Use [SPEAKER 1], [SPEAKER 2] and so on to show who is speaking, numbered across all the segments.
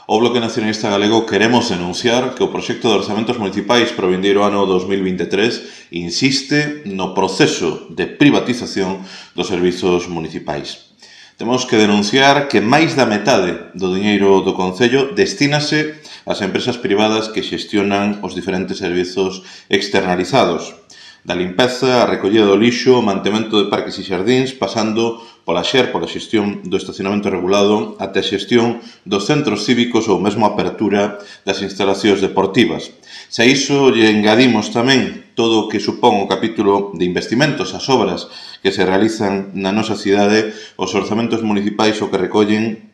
[SPEAKER 1] O Bloque Nacionalista Galego queremos denunciar que o proxecto de orzamentos municipais para o vindeiro ano 2023 insiste no proceso de privatización dos servizos municipais. Temos que denunciar que máis da metade do diñeiro do Concello destínase ás empresas privadas que xestionan os diferentes servizos externalizados, da limpeza, a recollida do lixo, o mantemento de parques e xardíns, pasando pola xestión do estacionamento regulado, até a xestión dos centros cívicos ou mesmo a apertura das instalacións deportivas. Se a iso lle engadimos tamén todo o que supón o capítulo de investimentos, as obras que se realizan na nosa cidade, os orzamentos municipais o que recollen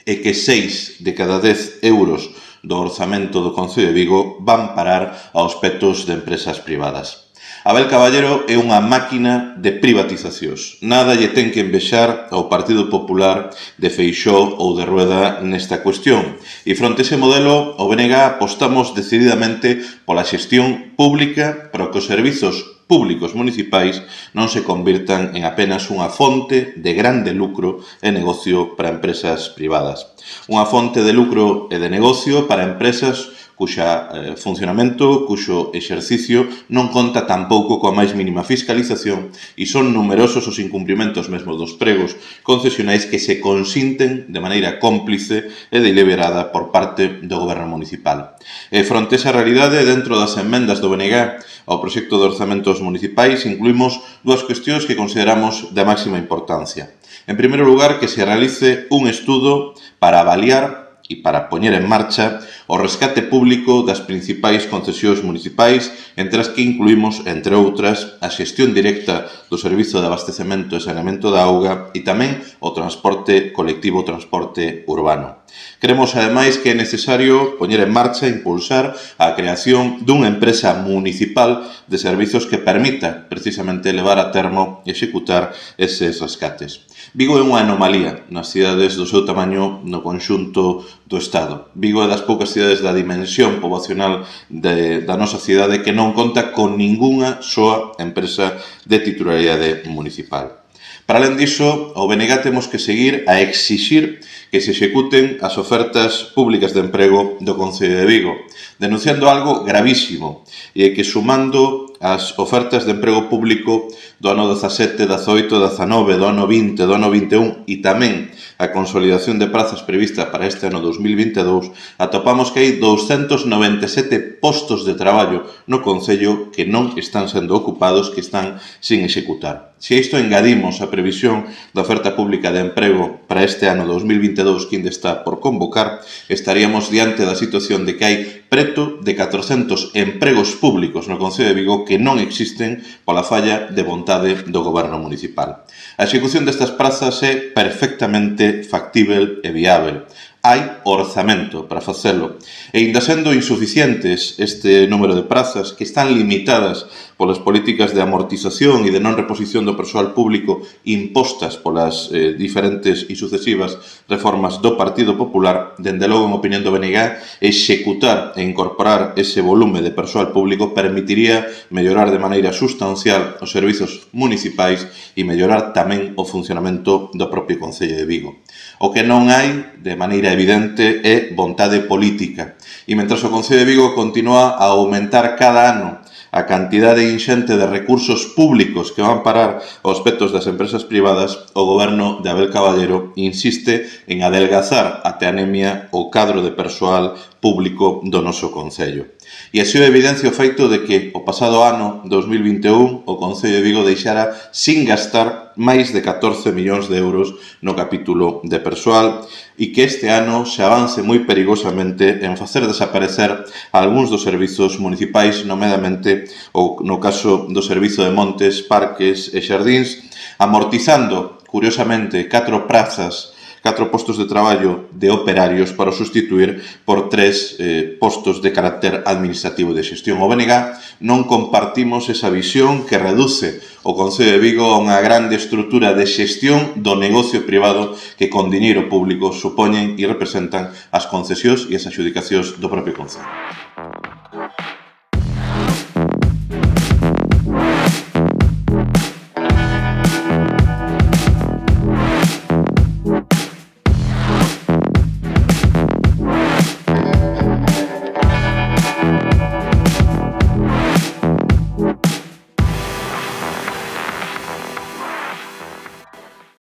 [SPEAKER 1] é que 6 de cada 10 euros do orzamento do Concello de Vigo van parar aos petos de empresas privadas. Abel Caballero é unha máquina de privatizacións. Nada lle ten que envexar ao Partido Popular de Feixóo ou de Rueda nesta cuestión. E fronte a ese modelo, o BNG apostamos decididamente pola xestión pública para que os servizos públicos municipais non se convirtan en apenas unha fonte de grande lucro e negocio para empresas privadas. Unha fonte de lucro e de negocio para empresas cuxa funcionamento, cuxo exercicio non conta tampouco coa máis mínima fiscalización e son numerosos os incumprimentos mesmo dos pregos concesionais que se consinten de maneira cómplice e deliberada por parte do Goberno municipal. E fronte a esa realidade, dentro das enmendas do BNG ao proxecto de orzamentos municipais, incluímos dúas cuestións que consideramos de máxima importancia. En primeiro lugar, que se realice un estudo para avaliar e para poñer en marcha o rescate público das principais concesións municipais, entre as que incluímos, entre outras, a xestión directa do servizo de abastecemento e saneamento da auga e tamén o transporte colectivo, o transporte urbano. Creemos, ademais, que é necesario poñer en marcha e impulsar a creación dunha empresa municipal de servizos que permita, precisamente, levar a termo e executar eses rescates. Vigo é unha anomalía nas cidades do seu tamaño no conxunto do Estado. Vigo é das poucas cidades da dimensión poboacional da nosa cidade que non conta con ningunha soa empresa de titularidade municipal. Para alén diso, ao BNG temos que seguir a exixir que se executen as ofertas públicas de emprego do Concello de Vigo, denunciando algo gravísimo, e que sumando as ofertas de emprego público do ano 17, 18, 19, do ano 20, do ano 21 e tamén a consolidación de prazas prevista para este ano 2022, atopamos que hai 297 postos de traballo no Concello que non están sendo ocupados, que están sin executar. Se a isto engadimos a previsión da oferta pública de emprego para este ano 2022 que ainda está por convocar, estaríamos diante da situación de que hai preto de 400 empregos públicos no Concello de Vigo que non existen pola falla de vontade do Goberno municipal. A execución destas prazas é perfectamente factível e viável. Hai orzamento para facelo. E ainda sendo insuficientes este número de prazas que están limitadas polas políticas de amortización e de non reposición do persoal público impostas polas diferentes e sucesivas reformas do Partido Popular, dende logo, en opinión do BNG, executar e incorporar ese volume de persoal público permitiría mellorar de maneira sustancial os servizos municipais e mellorar tamén o funcionamento do propio Concello de Vigo. O que non hai, de maneira evidente, é vontade política. E mentras o Concello de Vigo continúa a aumentar cada ano a cantidade inxente de recursos públicos que van parar aos petos das empresas privadas, o Goberno de Abel Caballero insiste en adelgazar até anemia o cadro de persoal público do noso Concello. E así o evidencia o feito de que o pasado ano 2021 o Concello de Vigo deixara sin gastar máis de 14 millóns de euros no capítulo de persoal e que este ano se avance moi perigosamente en facer desaparecer algúns dos servizos municipais, nomeadamente no caso do servizo de montes, parques e xardíns, amortizando, curiosamente, 4 postos de traballo de operarios para sustituir por 3 postos de carácter administrativo de xestión. O BNG non compartimos esa visión que reduce o Concello de Vigo a unha grande estrutura de xestión do negocio privado que con diñeiro público supoñen e representan as concesións e as adxudicacións do propio Concello.